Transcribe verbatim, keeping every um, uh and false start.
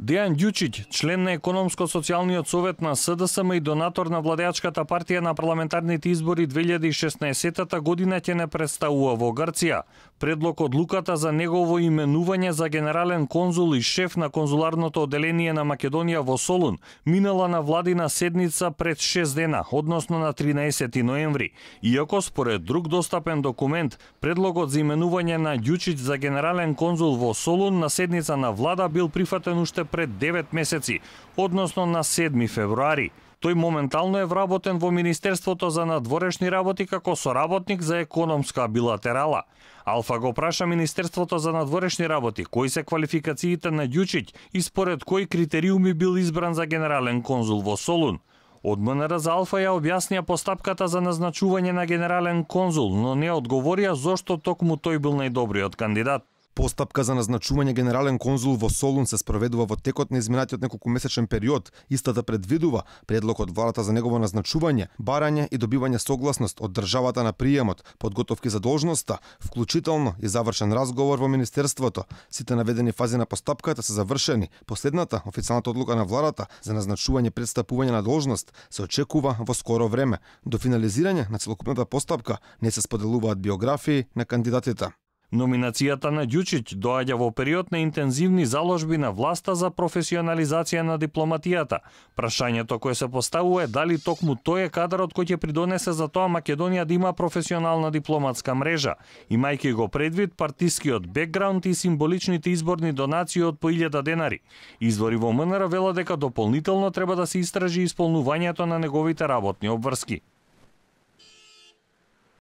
Дејан Ѓучиќ, член на Економско-социјалниот совет на СДСМ и донатор на владеачката партија на парламентарните избори две илјади и шеснаесетта година, ќе не представува во Грција. Предлог одлуката за негово именување за генерален конзул и шеф на конзуларното одделение на Македонија во Солун минала на владина седница пред шест дена, односно на тринаесети ноември. Иако според друг достапен документ, предлогот за именување на Ѓучиќ за генерален конзул во Солун на седница на влада бил прифатен уште пред девет месеци, односно на седми февруари. Тој моментално е вработен во Министерството за надворешни работи како соработник за економска билатерала. Алфа го праша Министерството за надворешни работи кои се квалификациите на Ѓучиќ и според кои критериуми бил избран за генерален конзул во Солун. Од МНР за Алфа ја објаснија постапката за назначување на генерален конзул, но не одговорија зошто токму тој бил најдобриот кандидат. Постапка за назначување генерален конзул во Солун се спроведува во текот на изминатиот неколкумесечен период. Истата предвидува предлог од владата за негово назначување, барање и добивање согласност од државата на приемот, подготовки за должноста, вклучително и завршен разговор во Министерството. Сите наведени фази на постапката се завршени. Последната, официјалната одлука на владата за назначување пред стапување на должност се очекува во скоро време. До финализирање на целокупната постапка не се споделуваат биографии на кандидатите. Номинацијата на Ѓучиќ доаѓа во период на интензивни заложби на власта за професионализација на дипломатијата. Прашањето кое се поставува е дали токму тој е кадарот кој ќе придонесе за тоа Македонија да има професионална дипломатска мрежа, имајќи го предвид партискиот бекграунд и символичните изборни донации од по илјада денари. Извори во МНР велат дека дополнително треба да се истражи исполнувањето на неговите работни обврски.